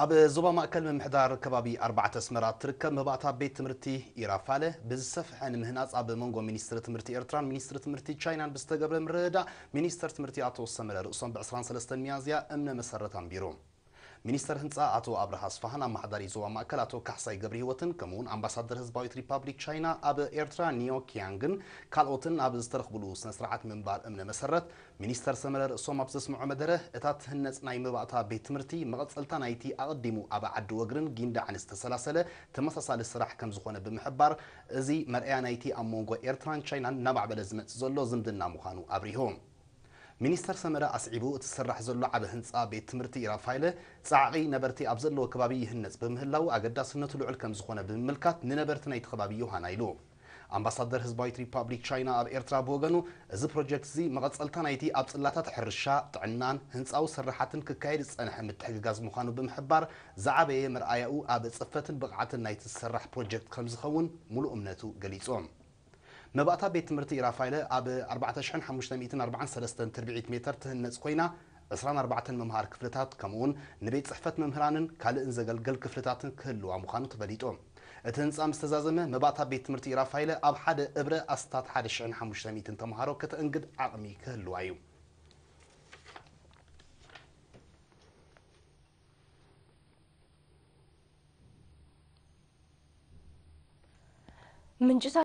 ኣብ ዞባ ማእከል ምምሕዳር ከባቢ ኣርባዕተ ኣስመራ እትርከብ መባእታ ቤት ትምህርቲ ኢራፋለ ብዝሰፍሐ ንምህናጽ ኣብ መንጎ ሚኒስትሪ ትምህርቲ ኤርትራን ሚኒስትሪ ትምህርቲ ቻይናን ብዝተገብረ ምርድዳእ፣ ሚኒስተር ትምህርቲ ኣቶ ሰመረ ርእሶም ብ ዕስራን ሰለስተን ሚያዝያ እምነ መሰረት ኣንቢሩ። ሚኒስተር ህንጻ ኣቶ ኣብርሃ ኣስፋሃን ኣመሓዳሪ ዞባ ማእከል ኣቶ ካሕሳይ ገብረህይወትን ከምኡውን ኣምባሳደር ህዝባዊት ሪፓብሊክ ቻይና ኣብ ኤርትራ ኒዮ ኪያንግን ካልኦትን ኣብ ዝተረኽብሉ ስነ ስርዓት ምንባር እምነ መሰረት፣ ሚኒስተር ሰመረ ርእሶም ኣብ ዘስምዖ መደረ፣ እታ ትህነጽ ናይ መባእታ ቤት ትምህርቲ መቐጸልታ ናይቲ ኣቐዲሙ ኣብ ዓዲ ወግርን ጊንዳዕን ዝተሰላሰለ ተመሳሳሊ ስራሕ ከም ዝኾነ ብምሕባር፣ እዚ መርኣያ ናይቲ ኣብ መንጎ ኤርትራን ቻይናን እናማዕበለ ዝመጽእ ዘሎ ዝምድና ምዃኑ ኣብሪሁ። ሚኒስተር ሰመረ ኣስዒቡ፣ እቲ ዝስራሕ ዘሎ ዓቢ ህንጻ ቤት ትምህርቲ ኢራፋይለ ጻዕቒ ነበርቲ ኣብ ዘለዎ ከባቢ ይህነጽ ብምህላዉ ኣገዳስነቱ ልዑል ከም ዝኾነ ብምምልካት፣ ንነበርቲ ናይቲ ከባቢ ዮሃና ኢሉ። ኣምባሳደር ህዝባዊት ሪፓብሊክ ቻይና ኣብ ኤርትራ ብወገኑ፣ እዚ ፕሮጀክት እዚ መቐጸልታ ናይቲ ኣብ ጽላታት ሕርሻ፣ ጥዕናን ህንጻዊ ስርሓትን ክካየድ ዝጸንሐ ምትሕግጋዝ ምዃኑ ብምሕባር፣ ዝዓበየ መርኣያኡ ኣብ ጽፈትን ብቕዓትን ናይቲ ዝስራሕ ፕሮጀክት ከም ዝኸውን ሙሉእ እምነቱ ገሊጹ። መባእታ ቤት ትምህርቲ ኢራፋይለ ኣብ ኣርባዕተ ሽሕን ሓሙሽተ ሚእትን ኣርባዓን ሰለስተን ትርብዒት ሜተር ትህነጽ ኮይና፣ ዕስራን ኣርባዕተን መምሃሪ ክፍልታት፣ ከምኡውን ንቤት ጽሕፈት መምህራንን ካልእን ዘገልግል ክፍልታትን ክህልዋ ምዃኑ ተፈሊጡ። እቲ ህንጻ ምስ ተዛዘመ፣ መባእታ ቤት ትምህርቲ ኢራፋይለ ኣብ ሓደ እብረ ኣስታት ሓደ ሽሕን ሓሙሽተ ሚእትን ተምሃሮ ከተእንግድ ዓቕሚ ክህልዋ እዩ። ምንጭታት